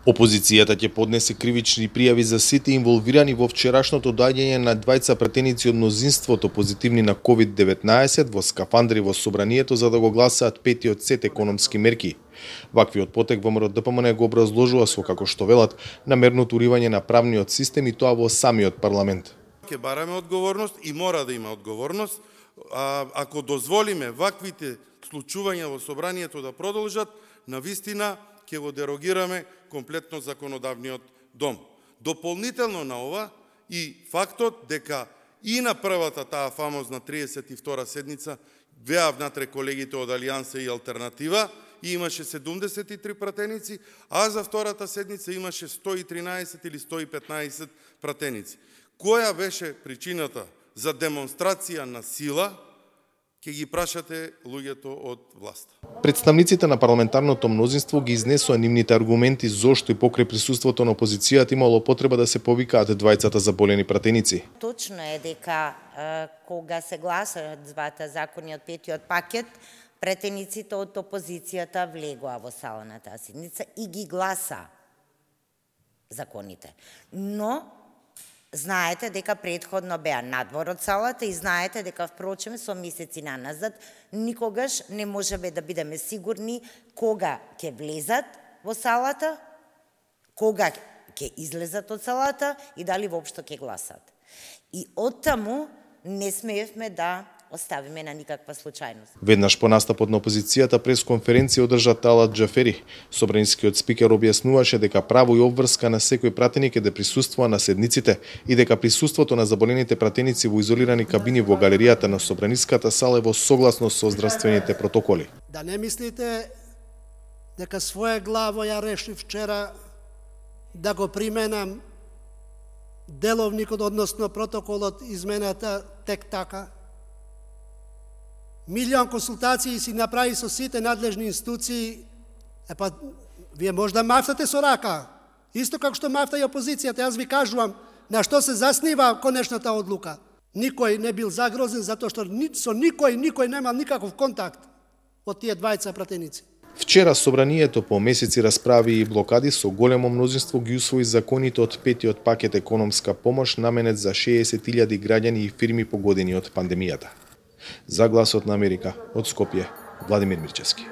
Опозицијата ќе поднесе кривични пријави за сите инволвирани во вчерашното доаѓање на двајца пратеници од мнозинството позитивни на COVID-19 во скафандри во собранието за да го гласаат петиот сет економски мерки. Ваквиот потек ВМРО ДПМН го образложува со, како што велат, намерното уривање на правниот систем и тоа во самиот парламент. Ќе бараме одговорност и мора да има одговорност. Ако дозволиме ваквите случувања во собранието да продолжат, навистина ќе го дерогираме комплетно законодавниот дом. Дополнително на ова и фактот дека и на првата таа фамозна 32-та седница беа внатре колегите од Алијанса и Алтернатива и имаше 73 пратеници, а за втората седница имаше 113 или 115 пратеници. Која беше причината за демонстрација на сила? Ќе ги прашате луѓето од власт. Представниците на парламентарното мнозинство ги изнесоа нивните аргументи зошто и покрај присуството на опозицијата имало потреба да се повикаат двајцата заболени пратеници. Точно е дека кога се гласаат двата закони од петиот пакет, пратениците од опозицијата влегоа во сала на таа седница и ги гласа законите. Но знаете дека предходно беа надвор од салата и знаете дека впрочем со месеци назад никогаш не можеме да бидеме сигурни кога ќе влезат во салата, кога ќе излезат од салата и дали воопшто ќе гласат. И оттаму не смеевме да оставиме на никаква случајност. Веднаш по настапот на опозицијата пресконференција одржа Талат Џафери. Собранискиот спикер објаснуваше дека право и обврска на секој пратеник е да присуствува на седниците и дека присуството на заболените пратеници во изолирани кабини во галеријата на Собраниската сала е во согласност со здравствените протоколи. Да не мислите дека своеглаво ја решив вчера да го применам деловникот, односно протоколот измената тек така. Милион консултации си направи со сите надлежни институции, вие може да мафтате со рака, исто како што мафта и опозицијата. Јас ви кажувам на што се заснива конечната одлука. Никој не бил загрозен затоа што со никој немал никаков контакт од тие двајца пратеници. Вчера собранието по месеци расправи и блокади со големо мнозинство ги усвои законите од петиот пакет економска помош наменет за 60.000 граѓани и фирми погодени од пандемијата. За Гласот на Америка, од Скопје, Владимир Мирчевски.